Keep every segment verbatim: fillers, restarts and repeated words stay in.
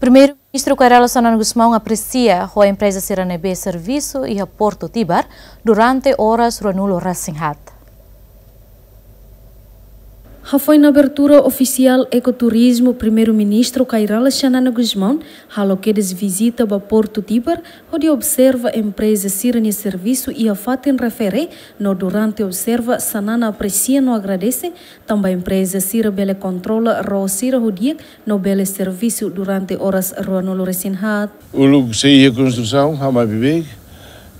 Primeiru-Ministru Kay Rala Xanana Gusmão apresia ho empreza sira ne'ebé servisu iha Portu Tibar durante oras ruanulu resin haat. Hafoin abertura ofisiál ekoturizmu, Primeiru-Ministru Kay Rala Xanana Gusmão halo kedas vizita ba Portu Tibar, hodi observa empreza sira-nia servisu iha fatin refere, no durante observa Xanana apresia no agradese, tanba empreza sira bele kontrola ró sira ho di'ak, no bele servisu durante oras ruanulu resin haat. Uluk sei iha konstrusaun, ha'u mai beibeik,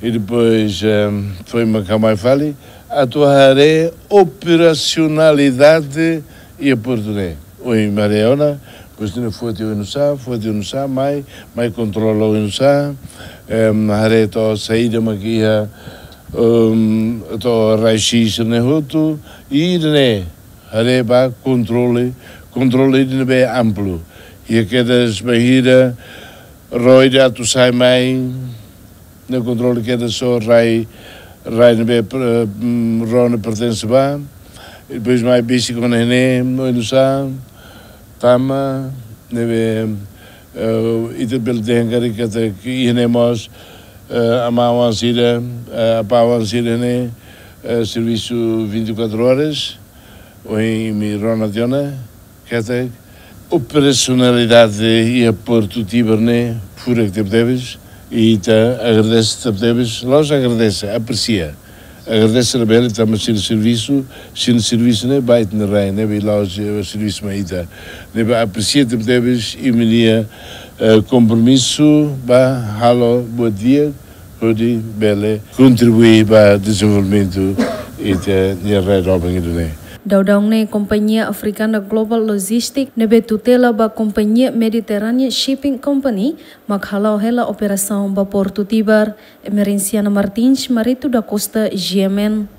i depois, ehm, foin mak ha'u mai fali, atu haree operasionalidade iha portu ne'e. Ohin mai haree ona, depois ne'e foti oinsá, foti oinsá, mai, mai kontrola oinsá, ehm, haree to'o saida mak iha, ehm, to'o raio-x ne'e hotu, i ne'e, haree ba kontrole, kontrole ida ne'ebé amplu. Iha kedas bainhira ró ida atu sai mai, ne'e kontrole kedas só rai, rai ne'ebé, eh, mm, ró ne'e pertense ba. I depois mai besik ona ne'e, oinsá, tama, ne'ebé, eh, ita bele dehan karik katak iha ne'e mós, eh, amá-oan sira, eh, apá-oan sira ne'e, eh, servisu vinte e quatro horas, ohin imi rona tiha ona, katak operasionalidade iha Portu Tibar ne'e furak tebetebes, i ita agradese tebetebes, la'ós agradese, apresia. Agradese labele tanba sira servisu, sira servisu ne'e ba ita-nia rai, ne'ebé la'ós, eh, servisu mai ita. Ne'ebé apresia tebetebes imi-nia, eh, kompromisu ba halo buat di'ak, hodi bele kontribui ba dezenvolvimentu ita-nia rai doben ida-ne'e. Daudaun ne'e kompañia afrikana Global Logistics ne'ebé tutela ba kompañia Mediterranean Shipping Company mak hala'o hela operasaun ba Portu Tibar. Emerenciana Martins, Marito da Costa, G M N.